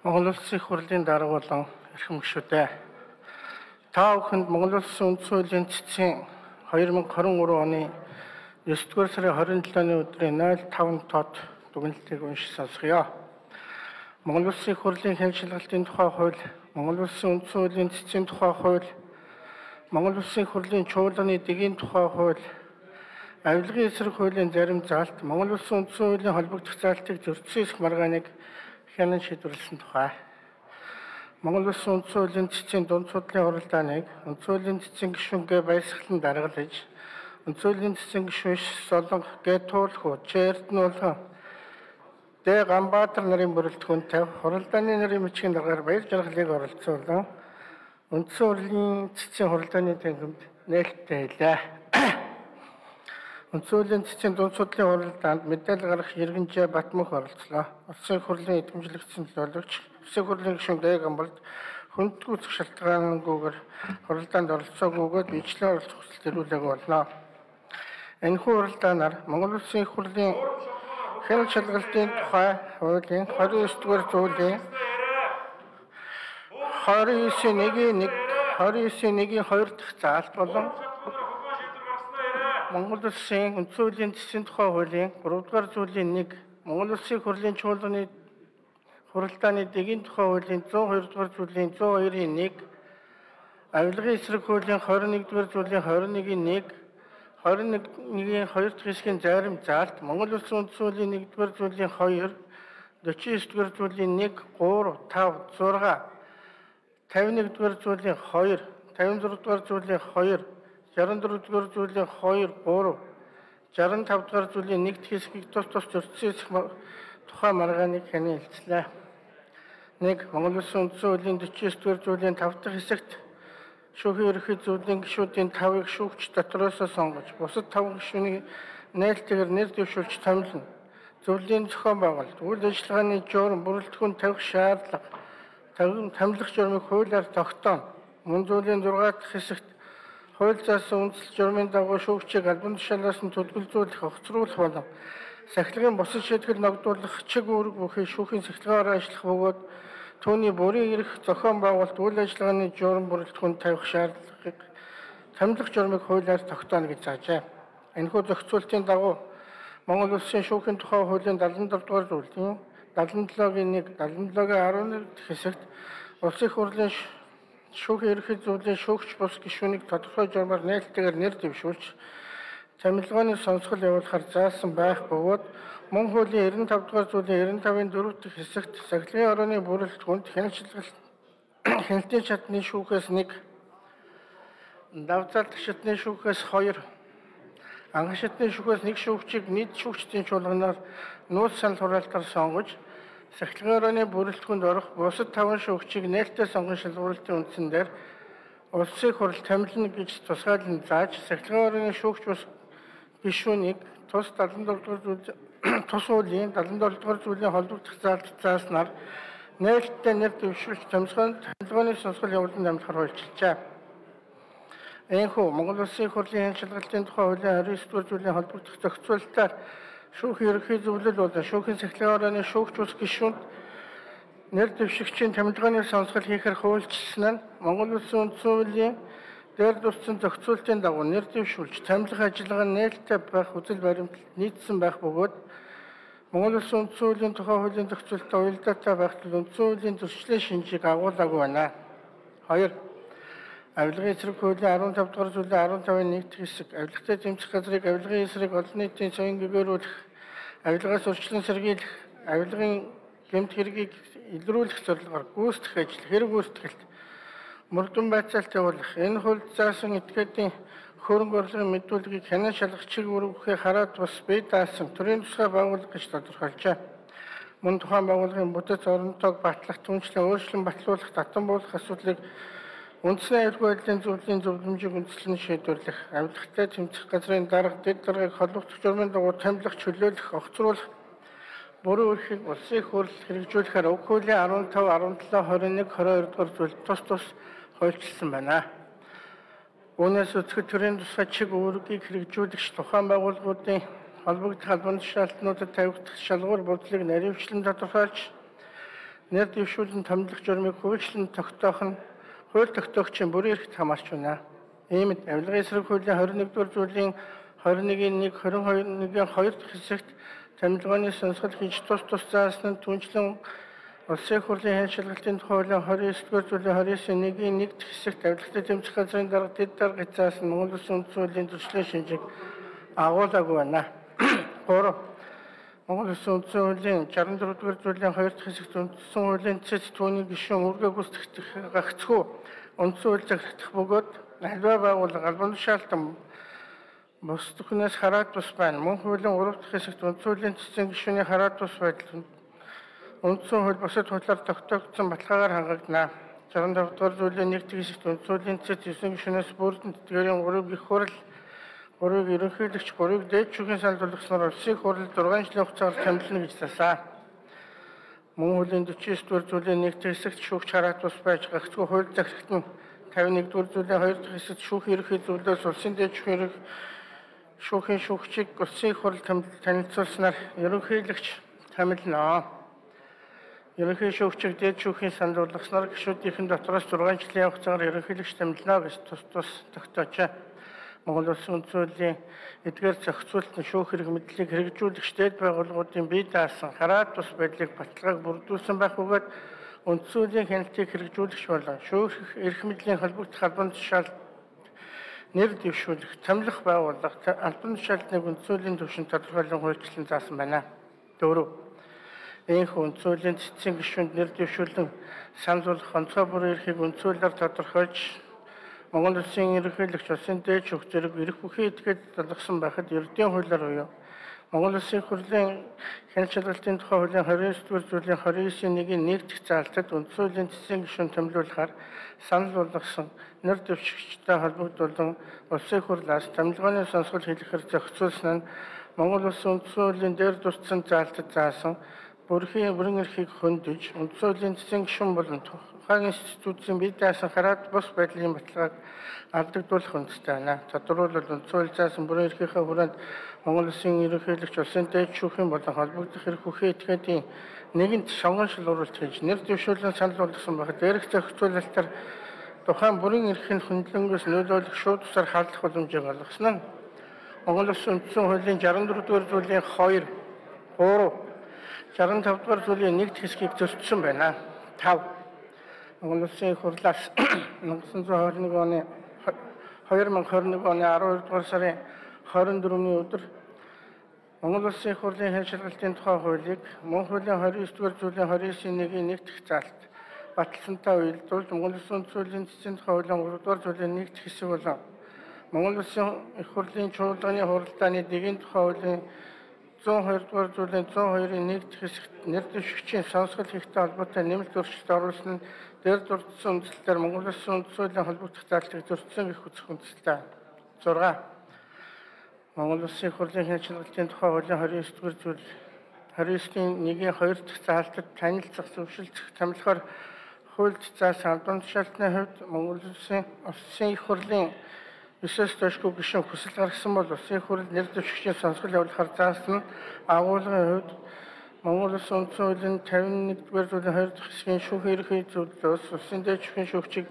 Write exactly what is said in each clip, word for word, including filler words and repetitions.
Монгол Улсын их хурлын дарга болон эрхэм гишүүдээ та бүхэнд Монгол Улсын үндсэн хуулийн цэцгийн две тысяча двадцать три оны девятого сарын двадцать седьмого өдрийн ноль таван тод дүгнэлтийг уншиж сонсгоё. Монгол Улсын их хурлын хэн шалгалтын тухай хууль, Монгол Улсын үндсэн хуулийн цэцгийн тухай хууль, Монгол Улсын их хурлын чуулганы дэгийн тухай хууль, авилгын эсрэг хуулийн зарим заалт, Монгол Улсын үндсэн хуулийн холбогдох заалтыг зөрчсөн эсэх маргааныг хянан шийдвэрлсэн тухай. Монгол Улсын үндсэн хуулийн цэцгийн дунд судлалын хуралдааныг үндсэн хуулийн цэцгийн гишүүнгээ баясгалан даргалж, үндсэн хуулийн цэцгийн гишүүн Солонх, Гэтуулху, Эрдэнэ Дэ Ганбаатар нарын бүрэлдэхүүн тавь хуралдааны нарын бичгийн даргаар баяр жаргалыг оролцуулан үндсэн хуулийн цэцгийн хуралдааны тангимд нээлттэй хэлээ. Үндсэн хуулийн цэцгийн дунд судлалын хуралдаанд мэдээлэл гаргах Иргэнжээ Батмөх оролцлоо. Улсын их хурлын эдгэмжлэгдсэн төлөөлөгч Улсын хурлын гишүүн Дэ Ганбарт хүндгүүцэх шалтгаангүйгээр хуралдаанд оролцоогүйгээд бичлэн оролцох хүсэлт төрүүлээг болно. Энэхүү хуралдаанаар Монгол Улсын их хурлын хэн шалгалтын тухай хуулийн двадцать девять дугаар зүйлийн двадцать девять нэг двадцать девять нэг хоёр дахь заалт болон Монгол Улсын үндсэн хуулийн цэцгийн тухай хуулийн гурав дугаар зүйлийн нэг Монгол Улсын их хурлын чуулганы хуралдааны дэгийн тухай хуулийн зуун хоёр дугаар зүйлийн зуун хоёрын нэг авилгын эсрэг хуулийн двадцать нэг дугаар зүйлийн двадцать нэг-ийн нэг двадцать нэг-ийн хоёр дахь хэсгийн зарим заалт Монгол Улсын үндсэн хуулийн нэг дугаар зүйлийн хоёр forty-nine дугаар зүйлийн нэг three five six fifty-one дугаар зүйлийн two fifty-four дугаар зүйлийн two sixty-four дугаар зүйлийн two three sixty-five дугаар зүйлийн нэг дахь хэсгийг тус тус зөрчсөн тухай маргааныг хянан хэлцлээ. нэг Монгол Улсын үндсэн хуулийн forty-nine дугаар зүйлийн five дахь хэсэгт шүүхийн ерөнхий зөвлөлийн гишүүдийн тавыг шүүгч дотроос сонгож, бусад таван гишүүнийг нээлттэйгээр нэр дэвшүүлж томилно. Зөвлөлийн зохион байгуулалт, үйл ажиллагааны журам бүрэлдэхүүн тавих шаардлага, томилох журмыг хуулиар тогтооно. Мөн зүйлийн six дахь хэсэгт хууль заасан үндсэл журмын дагуу шүүгчийг албан тушаалаас нь төлөвлөжүүлэх, огцруулах болон сахилгын бусад шийтгэл ногдуулах чиг үүрэг бүхий шүүхийн сахилгаагаар ажиллах бөгөөд түүний бүрийн эрх зохион байгуулалт үйл ажиллагааны журам бүрэлдэхүүн тавих шаардлагыг томилох журмыг хуулиар тогтооно гэж заажээ. Энэхүү зохицуултын дагуу Монгол Улсын шүүхийн тухай хуулийн seventy-four дугаар зүйлийн seventy-seven-ийн нэг seventy-seven-ийн eleven дахь хэсэгт Улсын их хурлын шүүхийн ерөнхий зөвлөлийн шүүгч бус гишүүнийг тодорхой журмаар нээлттэйгээр нэр дэвшүүлж томилгооны сонсгол явуулахар заасан байх бөгөөд мөн хуулийн ninety-five дугаар зүйлийн ninety-five-ийн four дахь хэсэгт сахилгын орооны бүрэлдэхүүнд хяналтшилгалт хяналтын шатны шүүхээс нэг давзалт шатны шүүхээс two анхан шатны шүүхээс нэг шүүгчийг нийт шүүгчдийн чуулганаар нууц санал хураалтаар сонгож сахилгын орооны бүрэлдэхүүнд орох бусад таван шүүгчийг нээлттэй сонгон шалгуулалтын үндсэн дээр Улсын их хурл томилно гэж тусгайлан зааж сахилгын орооны шүүгч бус гишүүнийг тус seventy-four дугаар зүйл тус хуулийн seventy-four дугаар зүйлийн холбогдох заалт зааснаар нээлттэй нэр дэвшүүлж томилгооны томилгооны сонсгол явуулан дамжахаар хуульчилжээ. Энэхүү Монгол Улсын их хурлын хэн шалгалтын тухай хуулийн twenty-nine дугаар зүйлийн холбогдох зохицуулалтаар шүүхийн ерөнхий зөвлөл болон шүүхийн сахилгын орооны шүүгч бус гишүүнд нэр дэвшигчийн томилгооны сонсгол хийхээр хуульчилсан нь Монгол Улсын үндсэн хуулийн дээр дурдсан зохицуултын дагуу нэр дэвшүүлж томилох ажиллагаа нээлттэй байх үзэл баримталд нийцсэн байх бөгөөд Монгол Улсын үндсэн хуулийн тухай хуулийн зохицуулалтад уялдаатай байх тул үндсэн хуулийн зөрчлийн шинжийг агуулаагүй байна. two авилгын эсрэг хуулийн fifteen дугаар зүйлийн fifteen-ийн нэг дахь хэсэг авилгатай тэмцэх газрыг авилгын эсрэг олон нийтийн соён гэгээрүүлэх, авилгаас урьдчилан сэргийлэх, авилгын гэмт хэргийг илрүүлэх зорилгоор гүйцэтгэх ажил, хэрэг гүйцэтгэлд мөрдөн байцаалт явуулах, энэ хуульд заасан этгээдийн хөрөнгө орлогын мэдүүлгийг хянан шалгах чиг үүрэгхээ хараад бас бие даасан төрийн тусгай байгууллага гэж тодорхойлжээ. Мөн тухайн байгууллагын бүтэц оронтойг батлах, түншлэн өөрчлөн батлуулах, татан буулгах асуудлыг үндэсний аюулгүй байдлын зөвлөлийн зөвлөмжийг үндэслэн шийдвэрлэх, авилгатай тэмцэх газрын дарга дэд даргаыг холбогдох журмын дагуу томилох, чөлөөлөх, огцруулах, буруу эрхийг улсын их хурл хэрэгжүүлэхээр уг хуулийн fifteen, seventy-seven, twenty-one, twenty-two дугаар зүйл тус тус хуульчилсан байна. Үүнээс үзэхэд төрийн тусгай чиг үүргийг хэрэгжүүлэгч тухайн байгууллагуудын холбогдох албан тушаалтнуудад тавигдах шалгуур бодлыг наривчлан тодорхойлж нэр дэвшүүлэн томилох журмыг хуучлан тогтоох нь хууль тогтоогчийн бүрэн эрхт хамаарч байна. Иймд авилгын эсрэг хуулийн двадцать нэгдүгээр зүйлийн двадцать нэгний нэг двадцать хоёрын хоёр дахь хэсэгт томилгооны сонсгол хийж тус тус заасан нь түнчлэн улсын их хурлын хяншилгалтын тухай хуулийн двадцать девятдүгээр зүйлийн двадцать девятын нэгний нэг дахь хэсэгт авилгатай тэмцэх газрын дарга дэд дарга заасан Монгол Улсын үндсэн хуулийн төслийн шинжийг агуулаагүй байна. гурав Монгол Улсын үндсэн хуулийн шестьдесят дөрөвдүгээр зүйлийн хоёр дахь хэсэгт үндсэн хуулийн цэц түүний гишүүн үргээ гүйцэтгэх гагцхүү үндсэн хууль захирагдах бөгөөд альва байгууллага албан тушаалтан бус бүхнээс хараад тус байна. Мөн хуулийн гурав дахь хэсэгт үндсэн хуулийн цэцэн гишүүний хараад тус байдал үндсэн хууль бусад хуулиар тогтоогдсон баталгаагаар хангагдана. шестьдесят тавдугаар зүйлийн нэг дахь хэсэгт үндсэн хуулийн цэц девять гишүүнээс бүрдэн тэтгэврийн гурван их хурал гурвыг ерөнхийлөгч гурвыг дээд шүүхийн санал болгосноор улсын их хурал зургаан жилийн хугацаагаар томилно гэж заасан. Мөн хуулийн дөрвөн дугаар зүйлийн нэг дахь хэсэгт шүүгч хараад тус байж гагцхүү хууль захирагт нь петдесят нэгдүгээр зүйлийн хоёр дахь хэсэгт шүүхийн ерөнхий зөвлөлөөс улсын дээд шүүхийн шүүхийн шүүгчийг улсын их хурал танилцуулснаар ерөнхийлөгч томилно. Ерөнхий шүүгчийг дээд шүүхийн санал болгосноор гишүүдийн дотроос зургаан жилийн хугацаагаар ерөнхийлөгч томилно гэж тус тус тогтоожээ. Монгол Улсын үндсэн хуулийн эдгээр зохицуултын шүүх хэрэг мэдлийг хэрэгжүүлэх дээд байгууллагуудын бие даасан хараад тус байдлыг баталгааг бүрдүүлсэн байх бөгөөд үндсэн хуулийн хяналтыг хэрэгжүүлэх болон шүүх эрх мэдлийн холбогдох албан тушаалд нэр дэвшүүлэх, томилох байгууллага албан тушаалтныг үндсэн хуулийн түвшинд тодорхойлон хуульчлан заасан байна. дөрөв Ийхүү үндсэн хуулийн цэцэн гишүүнд нэр дэвшүүлэн санал болгох онцгой бүрэн эрхийг үндсэн хуулиар тодорхойлж Монгол Улсын ерөнхийлөгч улсын дээд шүүх зэрэг эрх бүхий этгээд залгасан байхад ердийн хуулиар буюу Монгол Улсын их хурлын хяншилгалтын тухай хуулийн двадцать девятдүгээр зүйлийн двадцать девятын нэгний нэг дахь заалтад үндсэн хуулийн цэцэн гишүүн томилуулахаар санал болгосон нэр дэвшигчтэй холбогдуулан улсын их хурлаас томилгооны сонсгол хэлэхээр зохицуулсан нь Монгол Улсын үндсэн хуулийн дээр дурдсан заалтад заасан бүрхийн бүрэн эрхийг хөндөж үндсэн хуулийн цэцэн гишүүн болон тухайн институтын бие даасан хараад бус байдлын баталгааг алдагдуулах үндэстэй байна. Тодорхойлбол үндсэн хууль заасан бүрэн эрхийнхээ хүрээнд Монгол Улсын ерөнхийлөгч улсын дээд шүүхийн болон холбогдох эрх бүхий этгээдийн нэгэнт шонгоншил оруулалт хийж нэр дэвшүүлэн санал болгосон байхад эрх зохицуулалтаар тухайн бүрэн эрхийн хөндлөнгөөс нөлөөлөх шууд тусаар халдах боломжийг олгосон нь Монгол Улсын үндсэн хуулийн шестьдесят дөрөвдүгээр зүйлийн хоёр, гурав, шестьдесят тавдугаар зүйлийн нэг дахь хэсгийг зөрчсөн байна. тав Монгол Улсын их хурлаас две тысячи двадцать один оны две тысячи двадцать один оны12 дугаар сарын двадцать дөрөвний өдөр Монгол Улсын их хурлын хяншилгалтын тухай хуулийг мөн хуулийн двадцать девятдүгээр зүйлийн двадцать девятын нэгний нэг дахь заалт баталсантай уялдуулж Монгол Улсын үндсэн хуулийн цэцэн тухай хуулийн гурав дугаар зүйлийн нэг дахь хэсэг болон Монгол Улсын их хурлын чуулганы хуралдааны дэгийн тухай хуулийн зүүн хоёр дугаар зүйлийн зүүн хоёрын нэг дахь хэсэгт нэр дэвшигчийн сонсгол хийхтэй холбоотой нэмэлт өөрчлөлт оруулсан нь дээр дурдсан үндслээр Монгол Улсын үндсэн хуулийн холбогдох заалтыг зөрчсөн гэх үзэх үндсэлтэй. зурга Монгол Улсын их хурлын хяншилгалтын тухай хуулийн двадцать девятдүгээр зүйл двадцать девятын нэгний хоёр дахь заалтад танилцах, зөвшөлдөх, томилохоор хуульд заасан албан тушаалтны хувьд Монгол Улсын Улсын их хурлын ёсоос тошгүй гишүүн хүсэл гаргасан бол улсын их хурл нэр дэвшигчийн сонсгол явуулахар заасан агуулгын хувьд Монгол Улсын үндсэн хуулийн петдесят нэгдүгээр зүйлийн хоёр дахь хэсгийн шүүх ерөнхий зөвлөлөөс улсын дээд шүүхийн шүүгчийг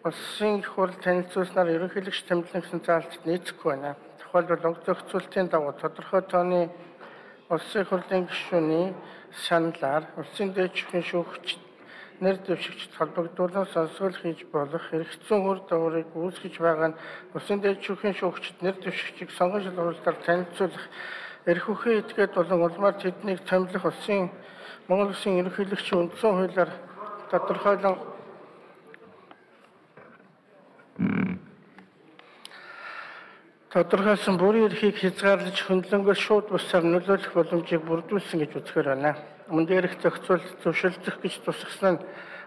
улсын их хурл танилцуулснаар ерөнхийлөгч томилно гэсэн заалтад нийцэхгүй байна. Тухайлбал уг зохицуултын дагуу тодорхой тооны улсын их хурлын гишүүний саналаар улсын дээд шүүхийн шүүгчид нэр дэвшигчд холбогдуулан сонсгол хийж болох хэрэгцсэн үр дагаврыг үүсгэж байгаа нь улсын дээд шүүхийн шүүгчид нэр дэвшигчийг сонгон шалгуулалтаар танилцуулах эрх бүхий этгээд болон улмаар тэднийг томилох улсын Монгол Улсын ерөнхийлөгчийн үндсэн хуулиар тодорхойлон тодорхойлсон бүрийн эрхийг хязгаарлаж хөндлөнгөөс шууд бусаар нөлөөлөх боломжийг бүрдүүлсэн гэж үзэхээр байна. Мөн дээрх зохицуулалт зөвшөлдөх гэж тусгасан нь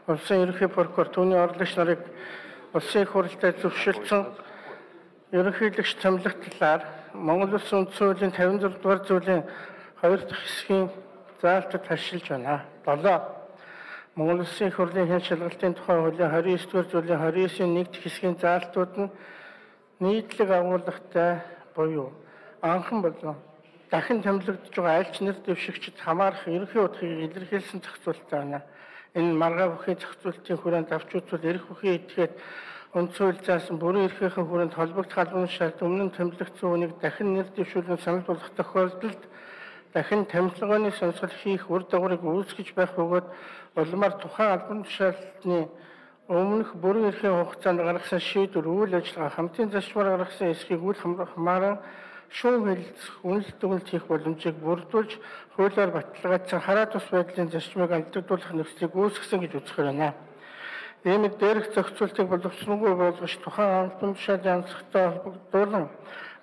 улсын ерөнхий прокурор түүний орлогч нарыг улсын их хурлтай зөвшөлдсөн ерөнхийлөгч томилох талаар Монгол Улсын үндсэн хуулийн пятьдесят зургаадугаар зүйлийн хоёр дахь хэсгийн заалтад хашилж байна. долоо Монгол Улсын их хурлын хяншилгалтын тухай хуулийн двадцать девятдүгээр зүйлийн двадцать девятын нэг дахь хэсгийн заалтууд нь нийтлэг агуулгатай буюу анхан болон дахин томилогдож байгаа аль ч нэр дэвшигчид хамаарах ерөнхий утгыг илэрхийлсэн зохицуулалттай байна. Энэ маргаа бүхий зохицуулалтын хүрээнд авч үзвэл эрх бүхий этгээд үндсэн хууль заасан бүрэн эрхийнхэн хүрээнд холбогдох албан тушаалд өмнө нь томилогдсон үнийг дахин нэр дэвшүүлэн санал болгох тохиолдолд дахин томилгооны сонсгол хийх үр дагаврыг үүсгэж байх бөгөөд улмаар тухайн албан тушаалны өмнөх бүрэн эрхийн хугацаанд гаргасан шийдвэр үйл ажиллагаа хамтын зарчмаар гаргасан эсхийг үл хамааран шүүн хэлэлцэх үнэлт дүгнэлт хийх боломжийг бүрдүүлж хуулиар баталгаажсан хараа тус байдлын зарчмыг алдагдуулах нөхцөлийг үүсгэсэн гэж үзэхээр байна. Иймд дээрх зохицуултыг боловсронгүй болгож тухайн албан тушаалын онцлогтой холбогдуулан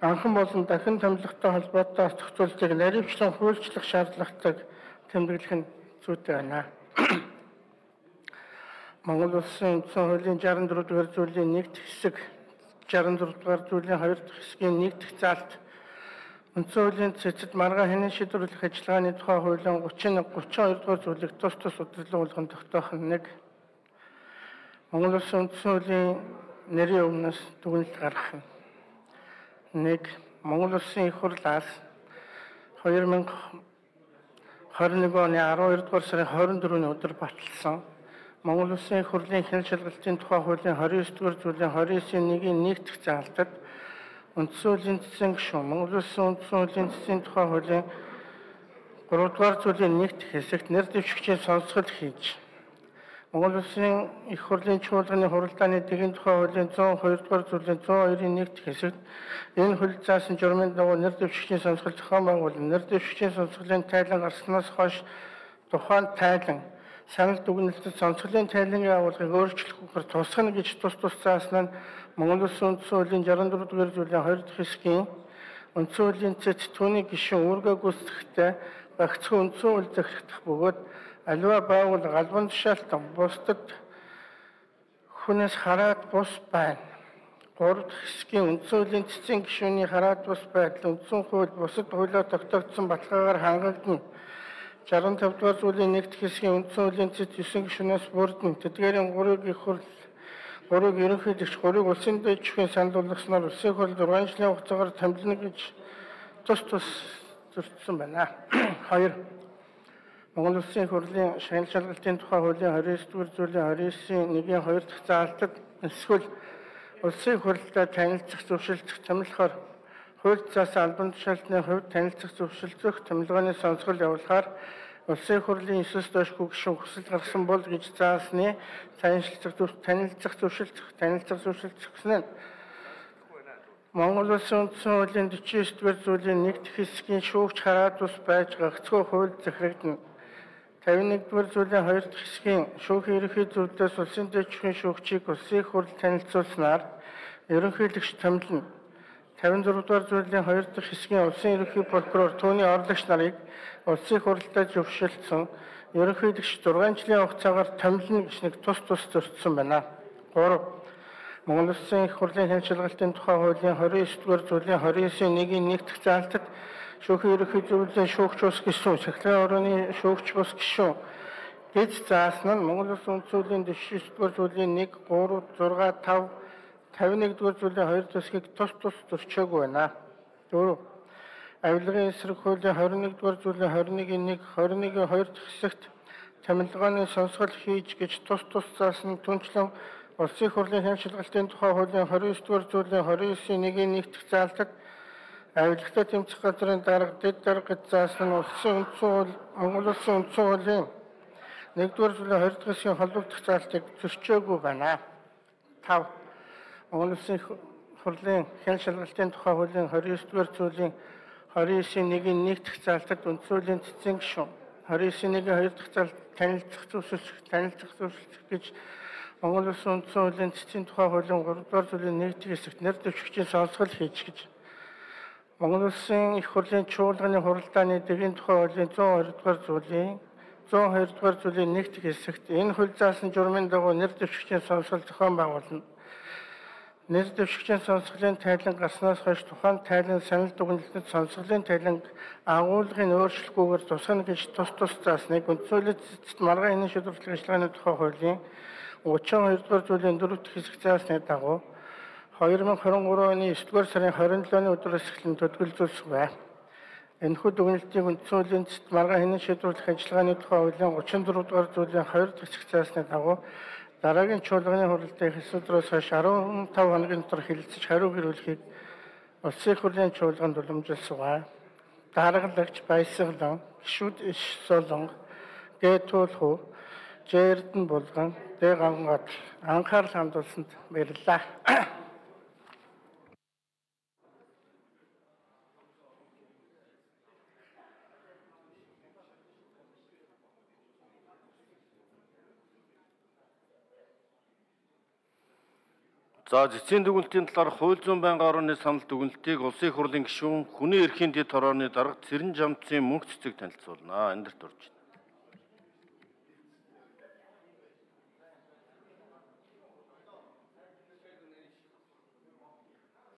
анхан болон дахин томилготой холбоотой зохицуултыг наривчлан хуульчлах шаардлагатайг тэмдэглэх нь зүйтэй байна. Монгол Улсын үндсэн хуулийн шестьдесят четыре дугаар зүйлийн нэгд хэсэг, шестьдесят дөрөв дугаар зүйлийн хоёр дахь хэсгийн нэгдэх заалт үндсэн хуулийн цэцэд маргаа хянан шийдвэрлэх ажиллагааны тухай хуулийн гучин гучин хоёр дугаар зүйлийг тус тус удирдлага болгон тогтоох нь нэг. Монгол Улсын үндсэн хуулийн нэрийн өмнөөс дүгнэлт гаргах нь нэг. Монгол Улсын их хурлаас хоёр мянга хорин нэг оны аравдугаар дугаар сарын хорин дөрөвний өдөр баталсан Монгол Улсын их хурлын хяналт шалгалтын тухай хуулийн двадцать девять дугаар зүйлийн двадцать девять-ийн нэг-ийн нэгдэх заалтад үндсэн хуулийн цэцэн гишүүн Монгол Улсын үндсэн хуулийн цэцэн тухай хуулийн гурав дугаар зүйлийн нэгдэх хэсэгт нэр дэвшигчийн сонсгол хийж Монгол Улсын их хурлын чуулганы хуралдааны дэгийн тухай хуулийн цent two дугаар зүйлийн цent two-ийн нэгдэх хэсэгт энэ хууль заасан журмын дагуу нэр дэвшигчийн сонсгол зохион байгуулан нэр дэвшигчийн сонсголын тайлан гарснаас хойш тухайн тайлан санал дүгнэлтэд сонсголын тайлангийн агуулгыг өөрчлөхгүйгээр тусгана гэж тус тус заасан нь Монгол Улсын үндсэн хуулийн шестьдесят четыре дугаар зүйлийн хоёр дахь хэсгийн үндсэн хуулийн цэц түүний гишүүн үүргээ гүйцэтгэхдээ багцхан үндсэн хууль захирагдах бөгөөд аливаа байгууллага албан тушаалтан бусдад хүнээс хараад бус байна. гурав дахь хэсгийн үндсэн хуулийн цэцэн гишүүний хараад бус байдал үндсэн хууль бусад хуулиар тогтоогдсон баталгаагаар хангагдана. шестьдесят пять дугаар зүйлийн нэгд хэсгийн үндсэн хуулийн цэц девять гишүүнээс бүрдэн тэдгээрийн гурвыг их хурл гурвыг ерөнхийлөгч гурвыг улсын дэвшигчийн санал болгосноор улсын хурл зургаан жилийн хугацаагаар томилно гэж тус тус зөрчсөн байна. хоёр Монгол Улсын хурлын шагнал шалгалтын тухай хуулийн двадцать девять дугаар зүйлийн двадцать девять-ийн нэг-ийн хоёр дахь заалтад эсвэл улсын хурлаа танилцах зөвшөлдөх томилохоор хууль заасан албан тушаалтны хувьд танилцах зөвшөлдөх томилгооны сонсгол явуулахаар улсын хурлын эсэс доошгүй гишүүн хүсэл гаргасан бол гэж заасны танилцах танилцах зөвшөлдөх танилцах зөвшөлдөх гэсэн нь Монгол Улсын үндсэн хуулийн forty-nine дугаар зүйлийн нэгд хэсгийн шүүгч хараад ус байж гагцхүү хууль захирагдана. fifty-one дугаар зүйлийн хоёр дахь хэсгийн шүүхийн ерөнхий зөвлөлөөс улсын дэвшигчийн шүүгчийг улсын их хурл танилцуулснаар ерөнхийлөгч томилно. fifty-six дугаар зүйлийн хоёр дахь хэсгийн улсын ерөнхий прокурор түүний орлогч нарыг улсын их хурлдаа зөвшөөрсөн ерөнхийлөгч зургаан жилийн хугацаагаар томилно гэж нэг тус тус зөрчсөн байна. гурав Монгол Улсын их хурлын хяналт шалгалтын тухай хуулийн twenty-nine дугаар зүйлийн twenty-nine-ийн нэг-ийн нэгдэх заалтад шүүхийн ерөнхий зөвлөлийн шүүгч бус гишүүн, сахилгын орооны шүүгч бус гишүүн гэж заасан нь Монгол Улсын үндсэн хуулийн forty-nine дугаар зүйлийн one, three, six, five, fifty-one дугаар зүйлийн two төсгийг тус тус зөрчөөгүй байна. дөрөв Авилгын эсрэг хуулийн twenty-one дугаар зүйлийн twenty-one-ийн one, twenty-one-ийн two дахь хэсэгт томилгооны сонсгол хийж гэж тус тус заасан түнчлэн Улсын их хурлын хяналт шалгалтын тухай хуулийн twenty-nine дугаар зүйлийн twenty-nine-ийн нэг-ийн нэгдэх заалтад авилгатай тэмцэх газрын дарга дэд дарга гэж заасан нь улсын үндсэн хууль Монгол Улсын үндсэн хуулийн one дугаар зүйлийн two дахь хэсгийн холбогдох заалтыг зөрчөөгүй байна. five Монгол Улсын их хурлын хяналт шалгалтын тухай хуулийн twenty-nine дугаар зүйлийн twenty-nine-ийн нэг-ийн нэгдэх заалтад үндсэн хуулийн цэцэн гишүүн twenty-nine-ийн нэг-ийн two дахь заалт танилцах зөвшөөрөх танилцах зөвшөөрөх гэж Монгол Улсын үндсэн хуулийн цэцэн тухай хуулийн three дугаар зүйлийн нэгдэх хэсэгт нэр дэвшигчийн сонсгол хийж гэж Монгол Улсын их хурлын чуулганы хуралдааны дэгийн тухай хуулийн one oh two дугаар зүйлийн one oh two дугаар зүйлийн нэгдэх хэсэгт энэ хууль заасан журмын дагуу нэр дэвшигчийн сонсгол зохион байгуулна. Нэр дэвшигчийн сонсголын тайлан гарснаас хойш тухайн тайлан санал дүгнэлтэд сонсголын тайлан агуулгын өөрчлөлгүйгээр тусгана гэж тус тус заасныг үндсэн хуулийн цэцэд маргаан хянан шийдвэрлэх ажиллагааны тухай хуулийн thirty-two дугаар зүйлийн four дахь хэсэг заасны дагуу twenty twenty-three оны nine дугаар сарын twenty-seven-ны өдрөөс эхлэн төдөлгөлзүүлсэн байна. Энэхүү дүгнэлтийг үндсэн хуулийн цэцэд маргаан хянан шийдвэрлэх ажиллагааны тухай хуулийн гучин дөрөв дугаар зүйлийн хоёр дахь хэсэг заасны дагуу дараагийн чуулганы хуралдаа их өдрөөс хойш арван тавь хоногийн дотор хэлэлцэж хариу гэрүүлэхийг улсын их хурлын чуулганд уламжилсугай. Дараагалагч Баясгалан, Гишүүд Иш Солонго, Г Туулхүү, Ж Эрдэнэ Булган, Д Гангат анхаарал хандуулсанд баярлалаа. За зэцгийн дүгнэлтийн талаар хууль зүйн байнгын орны санал дүгнэлтийг улсын их хурлын гишүүн хүний эрхийн дэд хорооны дарга Цэрэн Жамцын мөнх цэцэг танилцуулна. Эндэрт орж байна.